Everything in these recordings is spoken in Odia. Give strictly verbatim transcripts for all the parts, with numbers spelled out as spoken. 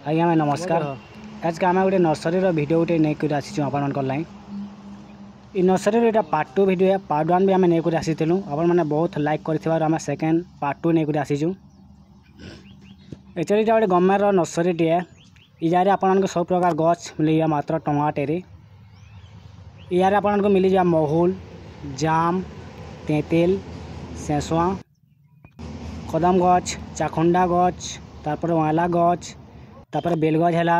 ଆଜ୍ଞା ଭାଇ ନମସ୍କାର। ଆଜକେ ଆମେ ଗୋଟେ ନର୍ସରୀର ଭିଡ଼ିଓ ଗୋଟେ ନେଇକରି ଆସିଛୁ ଆପଣଙ୍କର ଲାଗି। ଇ ନର୍ସରୀର ଏଇଟା part two video. Part one ବି ଆମେ ନେଇକରି ଆସିଥିଲୁ। ଆପଣମାନେ ବହୁତ ଲାଇକ୍ କରିଥିବାରୁ ଆମେ ସେକେଣ୍ଡ ପାର୍ଟ ଟୁ ନେଇକରି ଆସିଛୁ। ଆକ୍ଚୁଆଲି ଏଇଟା ଗୋଟେ ଗଭର୍ଣ୍ଣମେଣ୍ଟର ନର୍ସରୀଟିଏ। ଇ ଜାଗାରେ ଆପଣମାନଙ୍କୁ ସବୁ ପ୍ରକାର ଗଛ ମିଳିଯିବ ମାତ୍ର ଟଙ୍କାଟେରେ। ଇଆରେ ଆପଣଙ୍କୁ ମିଳିଯିବ ମହୁଲ, ଜାମ, ତେଁତେଲ, ସେସୁଆ, କଦମ ଗଛ, ଚାଖୁଣ୍ଡା ଗଛ, ତାରପରେ ଅଁଲା ଗଛ, ତାପରେ ବେଲ ଗଛ ହେଲା।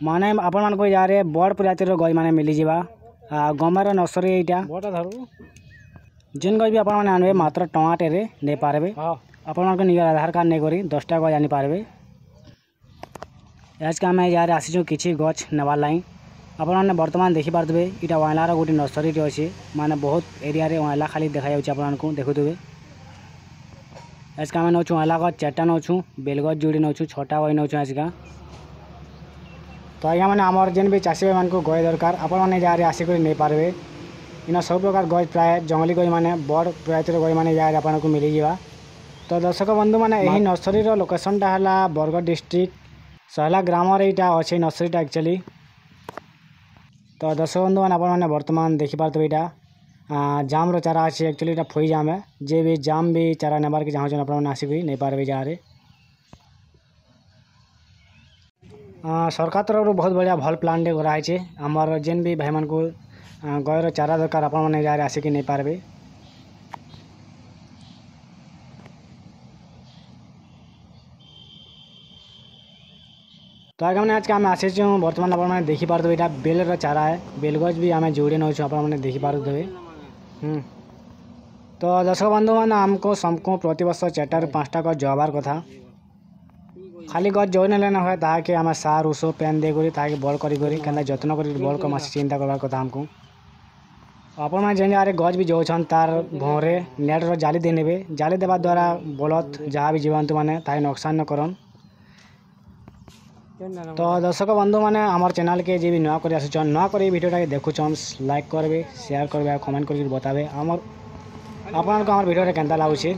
ମାନେ ଆପଣମାନଙ୍କୁ ଏ ଜାଗାରେ ବଡ଼ ପ୍ରଜାତିର ଗଛ ମାନେ ମିଳିଯିବା। ଆଉ ଗଭର୍ଣ୍ଣମେଣ୍ଟର ନର୍ସରୀ ଏଇଟା। ଯେନ୍ ଗଛ ବି ଆପଣମାନେ ଆଣିବେ, ମାତ୍ର ଟଙ୍କାଟେରେ ନେଇପାରିବେ। ଆପଣଙ୍କ ନିଜର ଆଧାର କାର୍ଡ଼ ନେଇକରି ଦଶଟା ଗଛ ଆଣିପାରିବେ। ଆଜକେ ଆମେ ଏ ଜାଗାରେ ଆସିଛୁ କିଛି ଗଛ ନେବାର୍ ଲାଗି। ଆପଣମାନେ ବର୍ତ୍ତମାନ ଦେଖିପାରୁଥିବେ, ଏଇଟା ଅଁଳାର ଗୋଟେ ନର୍ସରୀଟେ ଅଛି। ମାନେ ବହୁତ ଏରିଆରେ ଅଁଳା ଖାଲି ଦେଖାଯାଉଛି ଆପଣମାନଙ୍କୁ, ଦେଖୁଥିବେ। ଆଜକେ ଆମେ ନେଉଛୁ ଅଁଳା ଗଛ ଚାରିଟା ନେଉଛୁ, ବେଲ ଗଛ ଯୋଡ଼ି ନେଉଛୁ, ଛଅଟା ଗଛ ନେଉଛୁ ଆଜକା। ତ ଆଜ୍ଞା ମାନେ, ଆମର ଯେନ୍ ବି ଚାଷୀ ଭାଇମାନଙ୍କୁ ଗଛ ଦରକାର, ଆପଣମାନେ ଏ ଜାଗାରେ ଆସିକରି ନେଇପାରିବେ। ଇନ ସବୁ ପ୍ରକାର ଗଛ, ପ୍ରାୟ ଜଙ୍ଗଲୀ ଗଛ ମାନେ, ବଡ଼ ପ୍ରଜାତିର ଗଛ ମାନେ ଏ ଜାଗାରେ ଆପଣଙ୍କୁ ମିଳିଯିବା। ତ ଦର୍ଶକ ବନ୍ଧୁମାନେ, ଏହି ନର୍ସରୀର ଲୋକେସନଟା ହେଲା ବରଗଡ଼ ଡିଷ୍ଟ୍ରିକ୍ଟ ସହଲା ଗ୍ରାମରେ ଏଇଟା ଅଛି ନର୍ସରୀଟା ଆକ୍ଚୁଆଲି। ତ ଦର୍ଶକ ବନ୍ଧୁମାନେ, ଆପଣମାନେ ବର୍ତ୍ତମାନ ଦେଖିପାରୁଥିବେ, ଏଇଟା ଜାମ୍ର ଚାରା ଅଛି। ଆକ୍ଚୁଆଲି ଏଇଟା ଫୁଇ ଜାମ୍ ହେ। ଯେ ବି ଜାମ୍ ବି ଚାରା ନେବାର୍କେ ଚାହୁଁଛନ୍, ଆପଣମାନେ ଆସିକି ନେଇପାରିବେ ଏ ଜାଗାରେ। ସରକାର ତରଫରୁ ବହୁତ ବଢ଼ିଆ ଭଲ ପ୍ଲାନ୍ଟେ କରାହେଇছে। ଆମର ଯେନ୍ ବି ଭାଇମାନଙ୍କୁ ଗଛର ଚାରା ଦରକାର, ଆପଣମାନେ ଏ ଜାଗାରେ ଆସିକି ନେଇପାରିବେ। ତ ଆଜ୍ଞା ମାନେ, ଆଜକେ ଆମେ ଆସିଛୁ। ବର୍ତ୍ତମାନ ଆପଣମାନେ ଦେଖିପାରୁଥିବେ, ଏଇଟା ବେଲର ଚାରା ହେ। ବେଲ ଗଛ ବି ଆମେ ଯୋଡ଼ି ନେଉଛୁ, ଆପଣମାନେ ଦେଖିପାରୁଥିବେ। ହୁଁ ତ ଦର୍ଶକ ବନ୍ଧୁମାନେ, ଆମକୁ ସମସ୍ତଙ୍କୁ ପ୍ରତିବର୍ଷ ଚାରିଟାରୁ ପାଞ୍ଚଟା ଗଛ ଜଗାବାର କଥା। ଖାଲି ଗଛ ଜଗି ନେଲେ ନା ହୁଏ, ତାହାକେ ଆମେ ସାର, ଉଷ, ପେନ୍ ଦେଇକରି ତାହାକେ ବଡ଼ କରି କରି କେନ୍ତା ଯତ୍ନ କରି ବଡ଼ କର୍ମା, ଚିନ୍ତା କରବାର କଥା ଆମକୁ। ଆପଣମାନେ ଯେନ୍ ଜାଗାରେ ଗଛ ବି ଜଗୁଛନ୍, ତାର ଭଉଁରେ ନେଟ୍ର ଜାଲି ଦେଇନେବେ। ଜାଲି ଦେବା ଦ୍ୱାରା ବଳଦ ଯାହା ବି ଜୀବଜନ୍ତୁମାନେ ତାହାକେ ନୁକସାନ ନ କରନ୍। ତ ଦର୍ଶକ ବନ୍ଧୁମାନେ, ଆମର ଚ୍ୟାନେଲ୍କେ ଯିଏ ବି ନୂଆ କରି ଆସୁଛନ୍, ନୂଆ କରି ଭିଡ଼ିଓଟାକେ ଦେଖୁଛନ୍, ଲାଇକ୍ କରିବେ, ସେୟାର କରିବେ ଆଉ କମେଣ୍ଟ କରିକି ବତାବେ ଆମର ଆପଣଙ୍କୁ ଆମର ଭିଡ଼ିଓଟା କେନ୍ତା ଲାଗୁଛି।